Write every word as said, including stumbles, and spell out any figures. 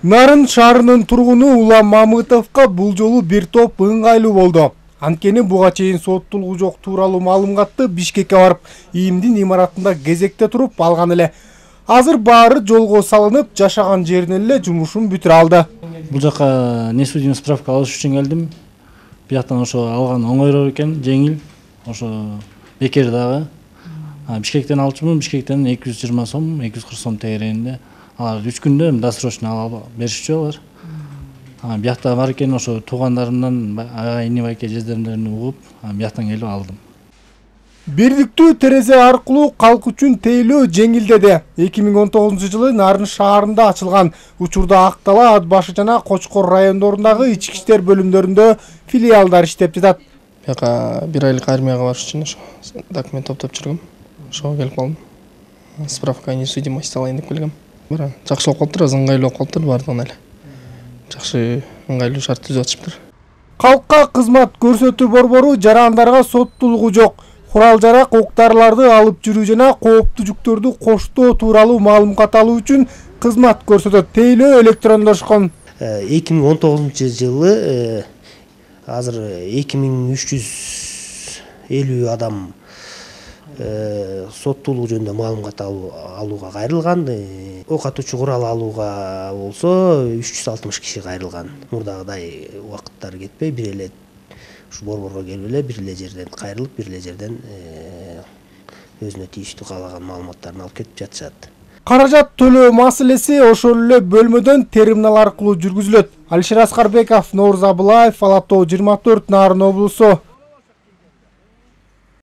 Нарын шаарынын тургуну Улам Мамытовго бул жолу бир топ ыңгайлуу болду. Анткени буга чейин соттулугу жок тууралуу маалыматты Бишкекке барып, ИИМдин имаратында кезекте туруп алган эле. Азыр баары жолго салынып, жашаган жеринен эле жумушун бүтүрө алды. Бул жака несудимый справка алыш үчүн келдим. Бияктан ошо алган оңойроо экен, жеңил. Ошо бекер дагы. Бишкектен алчумун, Бишкектен эки жүз жыйырма сом, эки жүз кырк сом тегерегинде. Алар үч күндө досрочно алып беришчү алар. Биякта бар экен, ошо туугандарымдан, айны байке жездеримден угуп, бияктан келип алдым. Бирдиктүү терезе аркылуу калк үчүн тейлөө жеңилдеди. эки миң он тогузунчу жылы Нарын шаарында ачылган. Учурда Ак-Дала, Ат башы жана Кочкор райондорундагы ички иштер бөлүмдөрүндө филиалдар иштеп жатат. Бияка бир айлык армияга барыш үчүн ошо документ топтоп жүргөм. Ошого келип калдым. Справка несудимость алайын деп келгем. Бара жакшы болуп калыптыр, ыңгайлуу болуп калыптыр бардыгына эле. Жакшы ыңгайлуу шарт түзүп атышыптыр. Калкка кызмат көрсөтүү борбору жарандарга соттулугу жок, курал-жарак, ок-дарыларды алып жүрүү жана кооптуу жүктөрдү коштоо тууралуу маалымат алуу үчүн кызмат көрсөтөт. Тейлөө электрондошкон. эки миң он тогузунчу жылы азыр эки миң үч жүз элүү адам соттуулук жөнүндө маалымат алууга кайрылган. Ок атуучу курал алууга болсо үч жүз алтымыш киши кайрылган. Мурдагыдай убакыттар кетпей, бир эле ушу борборго келип эле бир эле жерден кайрылып, бир эле жерден өзүнө тийиштүү каалаган маалыматтарын алып кетип жатышат. Каражат төлөө маселеси ошол эле бөлмөдөн терминал аркылуу жүргүзүлөт. Алишер Аскарбеков, Нооруз Абылаев, Ала Тоо жыйырма төрт, Нарын облусу.